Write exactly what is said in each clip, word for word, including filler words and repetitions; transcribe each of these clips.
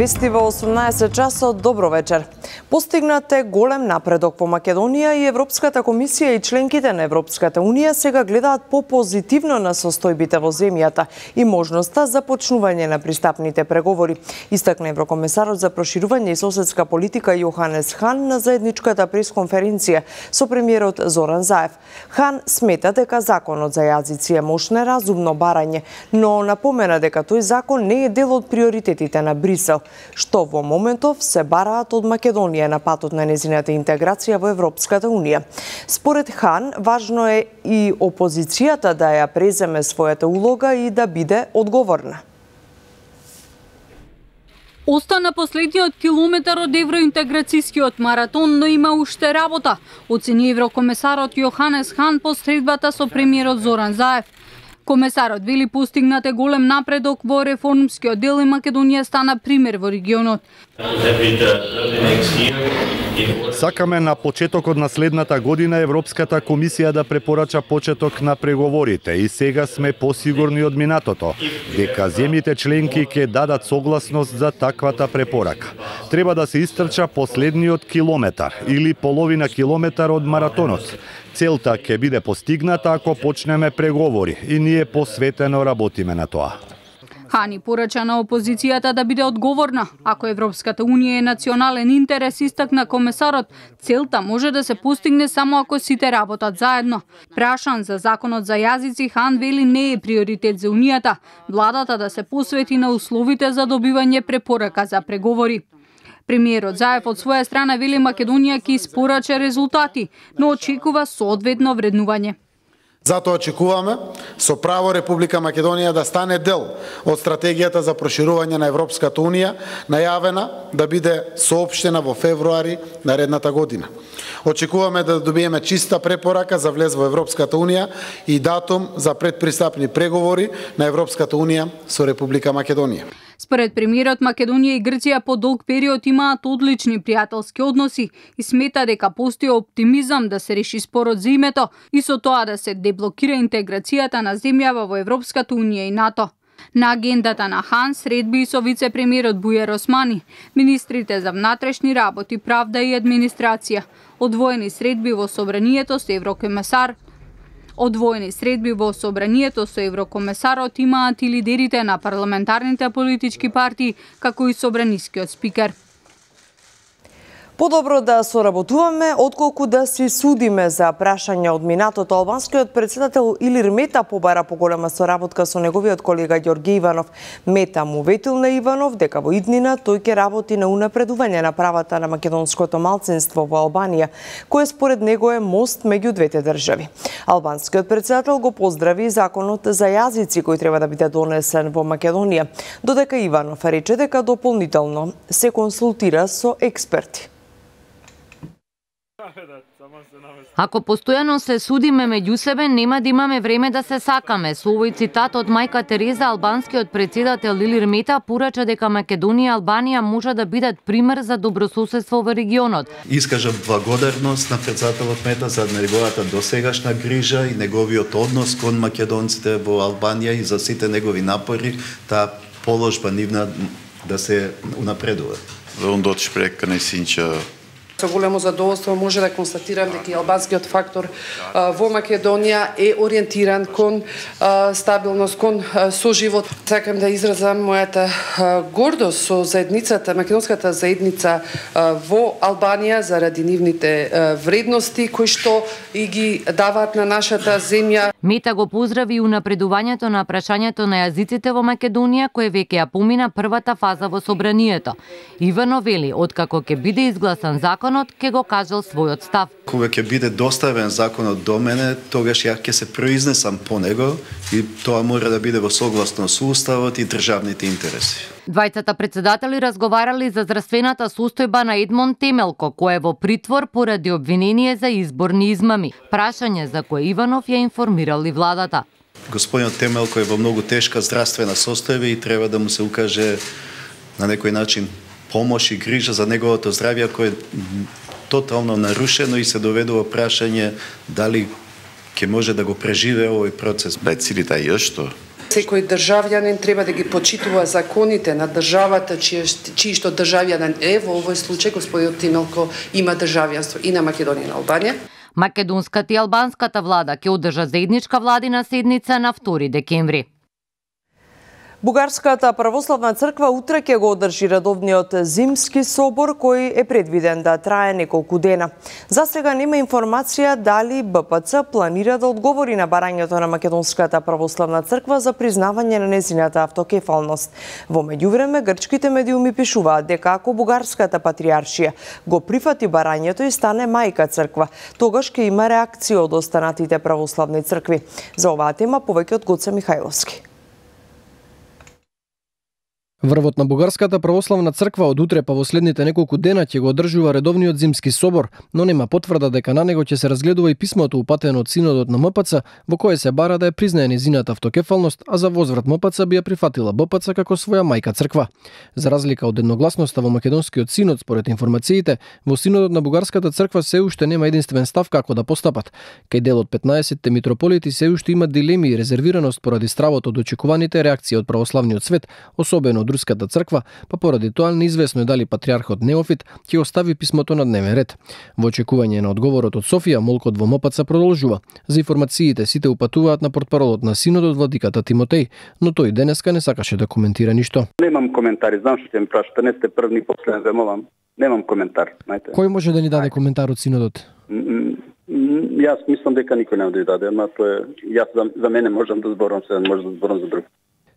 Вести во осумнаесет часот, добро вечер. Постигнат е голем напредок по Македонија и Европската комисија и членките на Европската унија сега гледаат по-позитивно на состојбите во земјата и можноста за почнување на пристапните преговори. Истакна еврокомесарот за проширување и соседска политика Јоханес Хан на заедничката пресконференција со премиерот Зоран Заев. Хан смета дека законот за јазици е мошне разумно барање, но напомена дека тој закон не е дел од приоритетите на Брисел, што во моментов се бараат од Македонија на патот на незината интеграција во Европската унија. Според Хан, важно е и опозицијата да ја преземе својата улога и да биде одговорна. Остана последниот километар од евроинтеграцијскиот маратон, но има уште работа, оцени еврокомесарот Јоханес Хан по средбата со премиерот Зоран Заев. Комесарот вели постигнат е голем напредок во реформскиот дел и Македонија стана пример во регионот. Сакаме на почетокот на следната година Европската комисија да препорача почеток на преговорите и сега сме посигурни од минатото дека земјите членки ќе дадат согласност за таквата препорака. Треба да се истрча последниот километар или половина километар од маратонот. Целта ќе биде постигната ако почнеме преговори и ние посветено работиме на тоа. Хани порача на опозицијата да биде одговорна. Ако Европската унија е национален интерес, истакна комесарот, целта може да се постигне само ако сите работат заедно. Прашан за законот за јазици, Хан вели не е приоритет за унијата. Владата да се посвети на условите за добивање препорака за преговори. Премиерот Заев од своја страна вели Македонија ќе испорача резултати, но очекува соодветно вреднување. Затоа очекуваме со право Република Македонија да стане дел од стратегијата за проширување на Европската унија, најавена да биде соопштена во февруари наредната година. Очекуваме да добиеме чиста препорака за влез во Европската унија и датум за предпристапни преговори на Европската унија со Република Македонија. Според премиерот, Македонија и Грција по долг период имаат одлични пријателски односи и смета дека постои оптимизам да се реши спорот за името и со тоа да се деблокира интеграцијата на земјава во Европската унија и НАТО. На агендата на Хан средби и со вице-премиерот Бујар Османи, министрите за внатрешни работи, правда и администрација, одвоени средби во собранието со еврокомесар, Одвоени средби во собранието со еврокомесарот имаат и лидерите на парламентарните политички партии, како и собранискиот спикер. Подобро да соработуваме, отколку да си судиме за прашања од минатото. Албанскиот председател Илир Мета побара поголема соработка со неговиот колега Ѓорѓе Иванов. Мета му ветил на Иванов дека во иднина тој ќе работи на унапредување на правата на македонското малцинство во Албанија, кое според него е мост меѓу двете држави. Албанскиот председател го поздрави законот за јазици кој треба да биде донесен во Македонија, додека Иванов рече дека дополнително се консултира со експерти. Ако постојано се судиме меѓу себе, нема да имаме време да се сакаме. Со овој цитат од мајка Тереза, албанскиот председател Илир Мета порача дека Македонија и Албанија може да бидат пример за добрососедство во регионот. Искажам благодарност на председателот Мета за неговата досегашна грижа и неговиот однос кон македонците во Албанија и за сите негови напори таа положба нивна да се унапредува. Om dat gesprek kan ik zien. Со големо задоволство може да констатирам дека албанскиот фактор во Македонија е ориентиран кон стабилност, кон соживот. Сакам да изразам мојата гордост со заедницата, македонската заедница во Албанија заради нивните вредности кои што и ги даваат на нашата земја. Мета го поздрави и унапредувањето на прашањето на јазиците во Македонија, кое веќе ја помина првата фаза во собранието. Ивано вели, откако ќе биде изгласан закон, ќе го кажал својот став. Кога ќе биде доставен законот до мене, тогаш ја ќе се произнесам по него и тоа мора да биде во согласност со уставот и државните интереси. Двајцата председатели разговарали за здравствената состојба на Едмон Темелко, кој е во притвор поради обвинение за изборни измами. Прашање за кое Иванов ја информирал и владата. Господинот Темелко е во многу тешка здравствена состојба и треба да му се укаже на некој начин помош и грижа за неговото здравје, кој е тотално нарушено и се доведува прашање дали ќе може да го преживее овој процес. Bij het Sirita Justo, Секој државјанин треба да ги почитува законите на државата чиј, чиј што државјанин е, во овој случај господин Тимелко има државјанство и на Македонија и на Албанија. Македонската и албанската влада ќе одржа заедничка владина седница на втори декември. Бугарската православна црква утре ќе го одржи редовниот зимски собор кој е предвиден да трае неколку дена. За сега нема информација дали Б П Ц планира да одговори на барањето на Македонската православна црква за признавање на незината автокефалност. Во меѓувреме грчките медиуми пишуваат дека ако бугарската патриаршија го прифати барањето и стане мајка црква, тогаш ќе има реакција од останатите православни цркви. За оваа тема повеќе од Гоце Михајловски. Врвот на Бугарската православна црква од утре па во следните неколку дена ќе го одржува редовниот зимски собор, но нема потврда дека на него ќе се разгледува и писмото упатено од синодот на М П Ц, во кое се бара да ја признае незината автокефалност, а за возврат М П Ц би ја прифатила Б П Ц како своја мајка црква. За разлика од едногласноста во македонскиот синод, според информациите, во синодот на Бугарската црква се уште нема единствен став како да постапат. Кај дел од петнаесетте митрополити се уште има дилеми и резервираност поради стравот од очекуваните реакции од православниот свет, особено од Руската црква, па поради тоа неизвестно е дали патриархот Неофит ќе остави писмото на дневен ред. Во очекување на одговорот од Софија, молкот во М П Ц продолжува. За информациите сите упатуваат на портпаролот на синодот владиката Тимотеј, но тој денеска не сакаше да коментира ништо. Немам коментари, знам што ќе ми прашате, не сте прв ни последен вемовам. Немам коментар, знаете. Кој може да ни даде коментар од синодот? Јас мислам дека никој не да даде, ама тоа е јас за, за мене можам да зборам, се може да зборам за друг.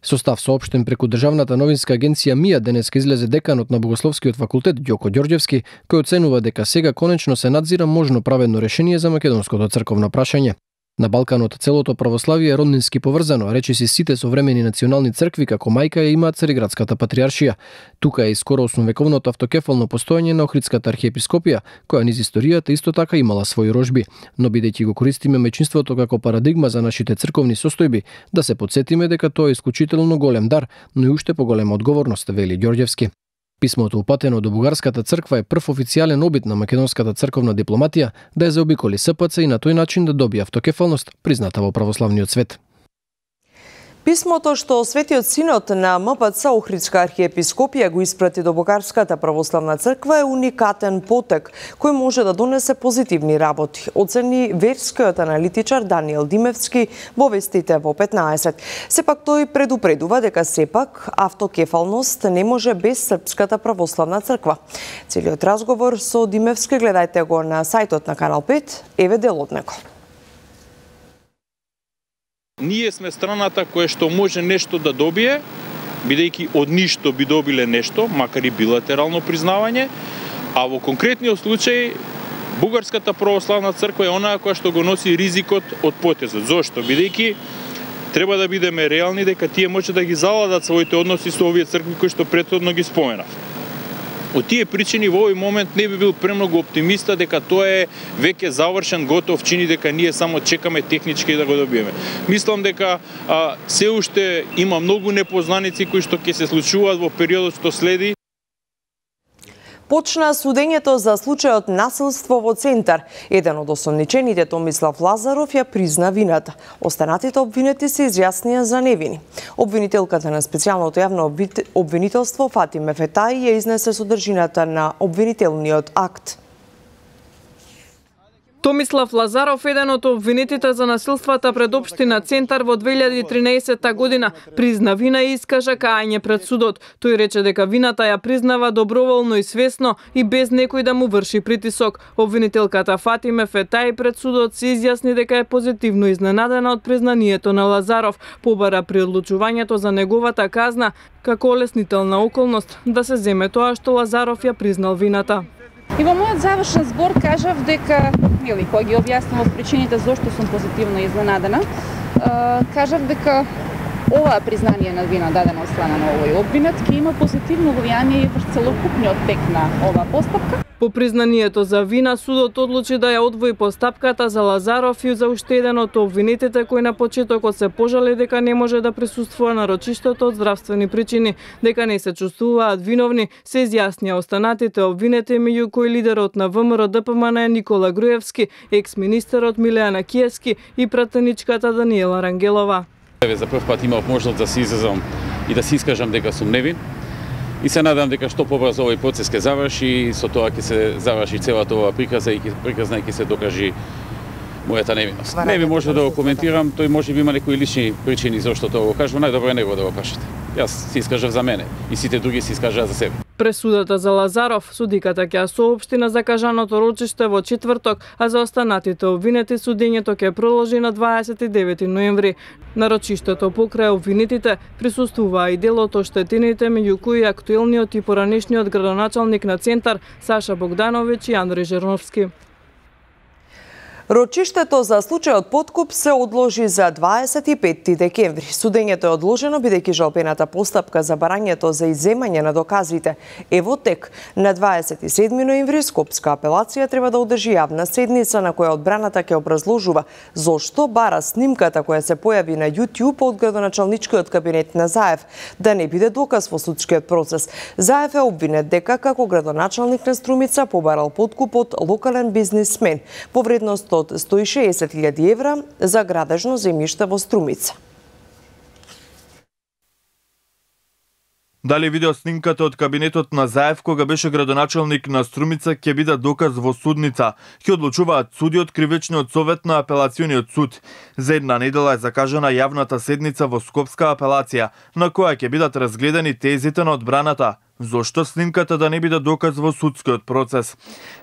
Со став соопштен преку државната новинска агенција МИА денеска излезе деканот на Богословскиот факултет Ѓоко Ѓорѓевски, кој оценува дека сега конечно се надзира можно праведно решение за македонското црковно прашање. На Балканот целото православие е роднински поврзано, речиси сите современи национални цркви како мајка ја имаат Цариградската патриаршија. Тука е и скоро осмовековното автокефално постоење на Охридската архиепископија, која низ историјата исто така имала своји рожби, но бидејќи го користиме мајчинството како парадигма за нашите црковни состојби, да се потсетиме дека тоа е исклучително голем дар, но и уште поголема одговорност, вели Ѓорѓевски. Писмото упатено до Бугарската црква е прв официјален обид на македонската црковна дипломатија да ја заобиколи С П Ц и на тој начин да добие автокефалност, призната во православниот свет. Писмото што Светиот Синод на М П Ц Охридска архиепископија го испрати до Бугарската православна црква е уникатен потек кој може да донесе позитивни работи, оцени верскиот аналитичар Даниел Димевски во вестите во петнаесет. Сепак тој предупредува дека сепак автокефалност не може без Српската православна црква. Целиот разговор со Димевски гледајте го на сајтот на Канал пет, еве дел од него. Ние сме страната која што може нешто да добие, бидејќи од ништо би добиле нешто, макар и билатерално признавање, а во конкретниот случај Бугарската православна црква е онаа која што го носи ризикот од потезот. Зошто? Бидејќи треба да бидеме реални дека тие може да ги заладат своите односи со овие цркви кои што претходно ги споменав. Од тие причини во овој момент не би бил премногу оптимиста дека тоа е веќе завршен, готов чин и дека ние само чекаме технички да го добиеме. Мислам дека а, се уште има многу непознаници кои што ќе се случуваат во периодот што следи. Почна судењето за случајот насилство во Центар. Еден од осомничените, Томислав Лазаров, ја призна вината. Останатите обвинети се изјаснија за невини. Обвинителката на специјалното јавно обвинителство Фатиме Фетаи ја изнесе содржината на обвинителниот акт. Томислав Лазаров, еден од обвинетите за насилствата пред општина Центар во две илјади и тринаесетта година, призна вина и искажа кајање пред судот. Тој рече дека вината ја признава доброволно и свесно и без некој да му врши притисок. Обвинителката Фатиме Фетаи пред судот се изјасни дека е позитивно изненадена од признанието на Лазаров. Побара при одлучувањето за неговата казна како олеснителна околност да се земе тоа што Лазаров ја признал вината. И во мојот завршен збор кажав дека, или кој ги објаснував причините зошто сум позитивно изненадена, кажав дека ова признание на вина дадено од страна на овој обвинет ќе има позитивно влијание и врз целокупниот тек на оваа постапка. По признанието за вина, судот одлучи да ја одвои постапката за Лазаров и за уште еден од обвинетите кој на почетокот се пожали дека не може да присуствува на рочиштото од здравствени причини, дека не се чувствуваат виновни, се изјаснија останатите обвинети, меѓу кои лидерот на В М Р Д П М Н Никола Груевски, екс-министерот Милеана Киевски и пратеничката Даниела Рангелова. За прв пат имав можност да се изразам и да се искажам дека сум невин. И се надам дека што побрзо овој процес ќе заврши и со тоа ќе се заврши целата оваа приказна и приказна и ќе се докажи мојата невиност. Не би може да го коментирам, тој може би има некои лични причини зашто тоа го кажува, најдобро е него да го кажете. Јас се искажав за мене и сите други се искажаа за себе. Пресудата за Лазаров, судиката ќе ја соопшти на закажаното рочиште во четврток, а за останатите обвинети судењето ќе продолжи на дваесет и девети ноември. На рочиштето покрај обвинетите присуствуваа и дел од оштетените, меѓу кои актуелниот и поранешниот градоначалник на Центар Саша Богдановиќ и Андреј Жерновски. Рочиштето за случајот подкуп се одложи за дваесет и пети декември. Судењето е одложено бидејќи жалбената постапка за барањето за изземање на доказите е во тек. На дваесет и седми ноември Скопска апелација треба да одржи јавна седница на која одбраната ќе образложува зошто бара снимката која се појави на YouTube од градоначалничкиот кабинет на Заев да не биде доказ во судскиот процес. Заев е обвинет дека како градоначалник на Струмица побарал подкуп од локален бизнисмен во вредност од сто и шеесет илјади евра за градежно земјиште во Струмица. Дали видео снимката од кабинетот на Заев кога беше градоначалник на Струмица ќе биде доказ во судница, ќе одлучуваат суди од Кривичниот совет на апелациониот суд. За една недела е закажана јавната седница во Скопска апелација, на која ќе бидат разгледани тезите на одбраната. Зошто снимката да не биде доказ во судскиот процес?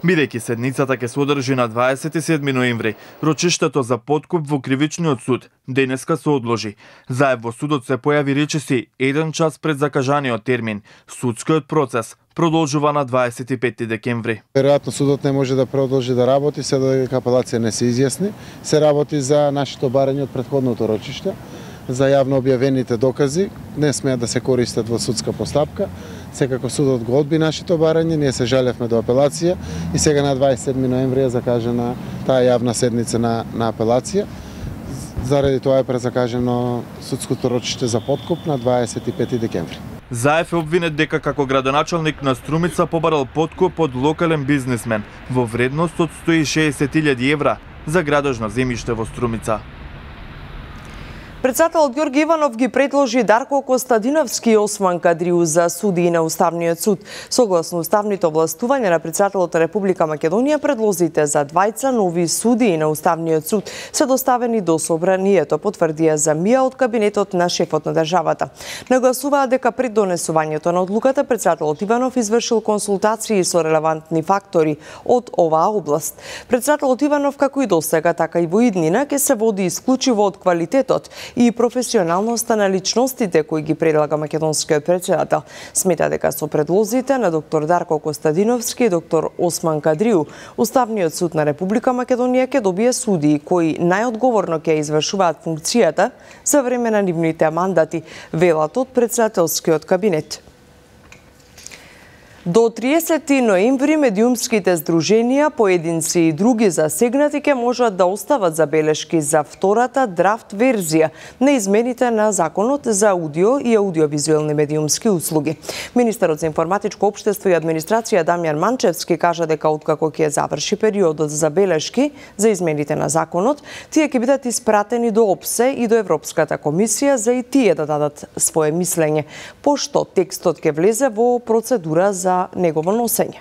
Бидејќи седницата ќе се одржи на дваесет и седми ноември, рочиштето за подкуп во Кривичниот суд денеска се одложи. Заев во судот се појави речиси еден час пред закажаниот термин. Судскиот процес продолжува на дваесет и пети декември. Веројатно судот не може да продолжи да работи се додека апелација не се изјасни. Се работи за нашето барање од претходното рочиште, за јавно објавените докази, не смеат да се користат во судска постапка. Секако судот го одби нашето барање, ние се жалевме до апелација и сега на дваесет и седми ноември е закажана таа јавна седница на, на апелација. Заради тоа е презакажено судското рочиште за подкуп на дваесет и пети декември. Заев е обвинет дека како градоначалник на Струмица побарал подкуп од локален бизнисмен во вредност од сто и шеесет илјади евра за градежно земјиште во Струмица. Председателот Ѓорги Иванов ги предложи Дарко Костадиновски и Осман Кадриу за судии на Уставниот суд. Согласно уставните овластувања на председателот на Република Македонија, предлозите за двајца нови судии на Уставниот суд се доставени до собранието, потврдија за МИА од кабинетот на шефот на државата. Нагласуваа дека пред донесувањето на одлуката председателот Иванов извршил консултации со релевантни фактори од оваа област. Председателот Иванов, како и досега, така и во иднина, ќе се води исклучиво од квалитетот и професионалноста на личностите кои ги предлага македонскиот председател. Смета дека со предлозите на доктор Дарко Костадиновски и доктор Осман Кадриу, Уставниот суд на Република Македонија ќе добие судии кои најодговорно ќе извршуваат функцијата за време на нивните мандати, велат од председателскиот кабинет. До триесети ноември медиумските здруженија, поединци и други засегнати ќе можат да остават забелешки за втората драфт верзија на измените на Законот за аудио и аудиовизуелни медиумски услуги. Министерот за информатичко општество и администрација Дамјан Манчевски кажа дека откако ќе заврши периодот за забелешки за измените на законот, тие ќе бидат испратени до ОПСЕ и до Европската комисија за и тие да дадат свое мислење, пошто текстот ќе влезе во процедура за за негово носење.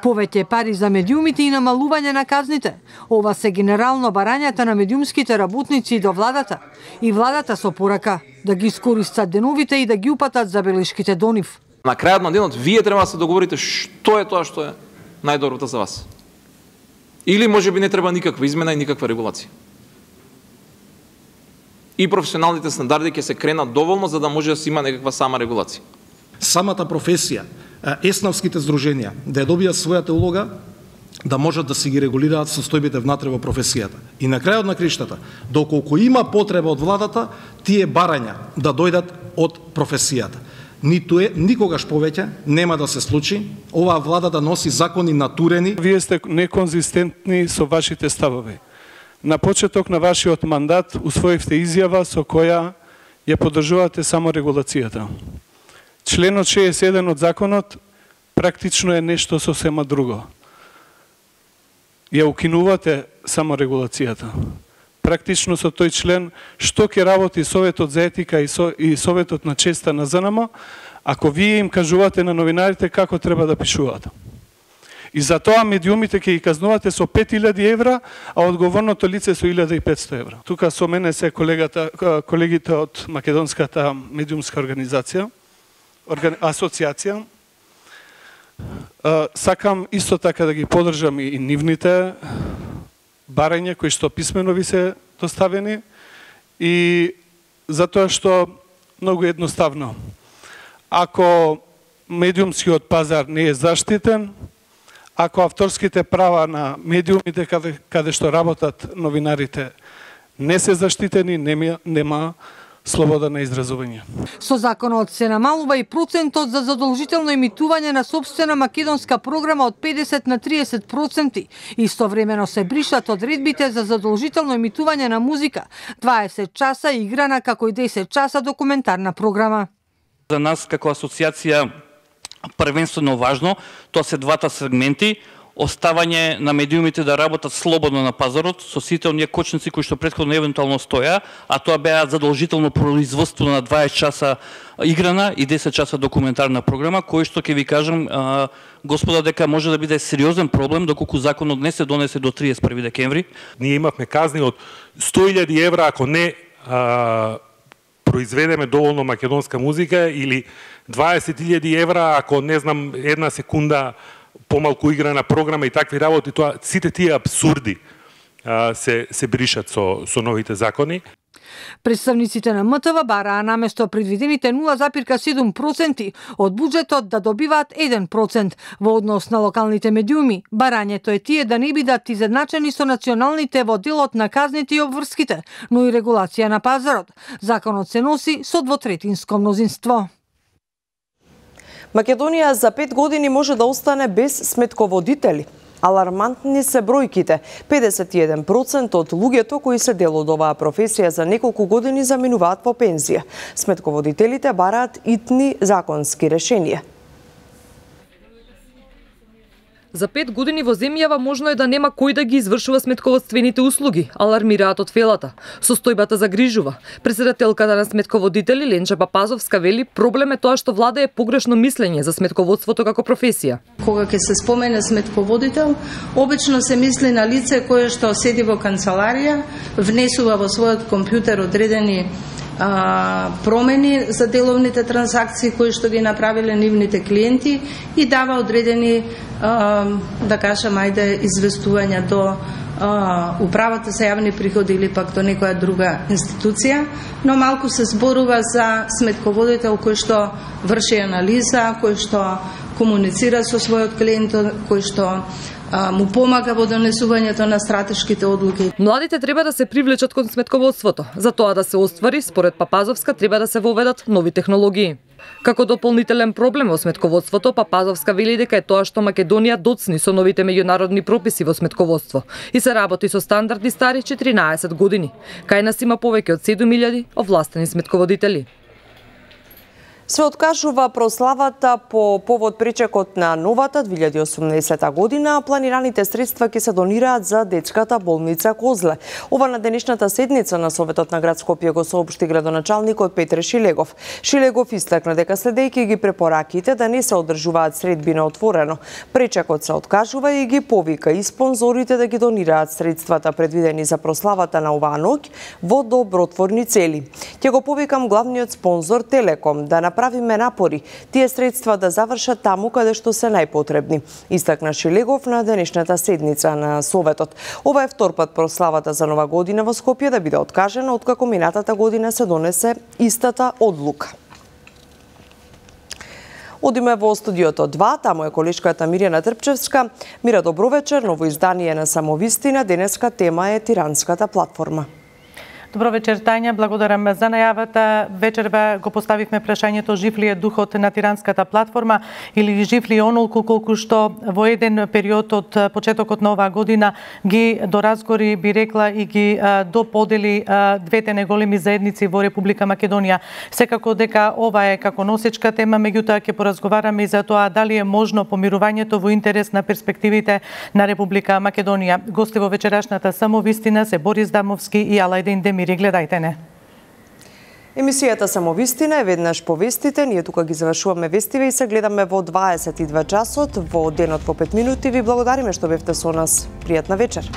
Повеќе пари за медиумите и намалување на казните. Ова се генерално барањата на медиумските работници до владата. И владата со порака да ги искористат деновите и да ги упатат забелешките до нив. На крајот на денот вие треба да се договорите што е тоа што е најдоброто за вас. Или можеби не треба никаква измена и никаква регулација. И професионалните стандарди ќе се кренат доволно за да може да се има некаква сама регулација. Самата професија, еснавските здруженија, да ја добијат својата улога, да можат да се ги регулираат состојбите внатре во професијата. И на крајот на криштата, доколку има потреба од владата, тие барања да дојдат од професијата. Ниту е, никогаш повеќе нема да се случи оваа влада да носи закони натурени. Вие сте неконзистентни со вашите ставови. На почеток на вашиот мандат усвоивте изјава со која ја поддржувате само регулацијата. Членот шеесет и еден од законот практично е нешто сосема друго. Ја укинувате само регулацијата. практично со тој член што ќе работи Советот за етика и, со, и Советот на честа на ЗНМ, ако вие им кажувате на новинарите како треба да пишуваат. И за тоа медиумите ќе ги казнувате со пет илјади евра, а одговорното лице со илјада и петсто евра. Тука со мене се колегата, колегите од Македонската медиумска организација, органи... асоциација. Сакам исто така да ги поддржам и нивните барања кои што писмено ви се доставени, и затоа што многу едноставно. Ако медиумскиот пазар не е заштитен, ако авторските права на медиумите каде, каде што работат новинарите не се заштитени, нема, нема слобода на изразување. Со законот се намалува и процентот за задолжително емитување на сопствена македонска програма од педесет на триесет проценти. Истовремено се бришат одредбите за задолжително емитување на музика, дваесет часа играна како и десет часа документарна програма. За нас како асоциација првенствено важно, тоа се двата сегменти: оставање на медиумите да работат слободно на пазарот со сите оние кочници кои што претходно евентуално стоја, а тоа беа задолжително производство на дваесет часа играна и десет часа документарна програма, кој што ќе ви кажам, а, господа, дека може да биде сериозен проблем доколку законот не се донесе до триесет и први декември. Ние имавме казни од сто илјади евра ако не а, произведеме доволно македонска музика, или дваесет илјади евра ако не знам една секунда помалку играна програма и такви работи. Тоа, сите тие абсурди а, се, се бришат со, со новите закони. Представниците на МТВ бараа наместо предвидените нула запирка седум проценти од буџетот да добиваат еден процент. Во однос на локалните медиуми, барањето е тие да не бидат изедначени со националните во делот на казните и обврските, но и регулација на пазарот. Законот се носи со двотретинско мнозинство. Македонија за пет години може да остане без сметководители. Алармантни се бројките. педесет и еден проценти од луѓето кои се дел од оваа професија за неколку години заминуваат во пензија. Сметководителите бараат итни законски решенија. За пет години во земјава можно е да нема кој да ги извршува сметководствените услуги, алармираат од Фелата. Состојбата загрижува. Председателката на сметководители Ленча Папазовска вели проблем е тоа што владее погрешно мислење за сметководството како професија. Кога ќе се спомене сметководител, обично се мисли на лице кое што седи во канцеларија, внесува во својот компјутер одредени А, промени за деловните трансакции кои што ги направиле нивните клиенти и дава одредени, а, да кажам, ајде, известувања до а, управата за јавни приходи или пак до некоја друга институција, но малку се зборува за сметководител кој што врши анализа, кој што комуницира со својот клиент, кој што му помага во донесувањето на стратешките одлуки. Младите треба да се привлечат кон сметководството. За тоа да се оствари, според Папазовска, треба да се воведат нови технологии. Како дополнителен проблем во сметководството, Папазовска вели дека е тоа што Македонија доцни со новите меѓународни прописи во сметководство и се работи со стандарди стари четиринаесет години. Кај нас има повеќе од седум илјади овластени сметководители. Се откажува прославата по повод причекот на новата две илјади и осумнаесета година, а планираните средства ќе се донираат за детската болница Козле. Ова на денешната седница на Советот на град Скопје го соопшти градоначалникот Петре Шилегов. Шилегов истакна дека следејќи ги препораките да не се одржуваат средби на отворено, пречекот се откажува и ги повика и спонзорите да ги донираат средствата предвидени за прославата на оваа ноќ во добротворни цели. Ќе го повикам главниот спонзор Телеком да направиме напори тие средства да завршат таму каде што се најпотребни, истакна Шилегов на денешната седница на Советот. Ова е втор пат прославата за Нова година во Скопје да биде откажена откако минатата година се донесе истата одлука. Одиме во студиото два, таму е колешката Мирјана Трпчевска. Мира, добро вечер, ново издание на Самовистина. Денеска тема е тиранската платформа. Добро вечер, Тања, благодарам за најавата. Вечерва го поставивме прашањето жив ли е духот на тиранската платформа или жив ли онолку колку што во еден период од почетокот на оваа година ги доразгори, би рекла, и ги а, доподели а, двете неголеми заедници во Република Македонија. Секако дека ова е како носечка тема, меѓутоа ќе поразговараме и за тоа дали е можно помирувањето во интерес на перспективите на Република Македонија. Гости во вечерашната Самовистина се Борис Дамовски и Алајдин Демири. Гледајте не. Емисијата Самовистина е веднаш по вестите. Ние тука ги завршуваме вестиве и се гледаме во дваесет и два часот, во денот по пет минути. Ви благодариме што бевте со нас. Пријатна вечер.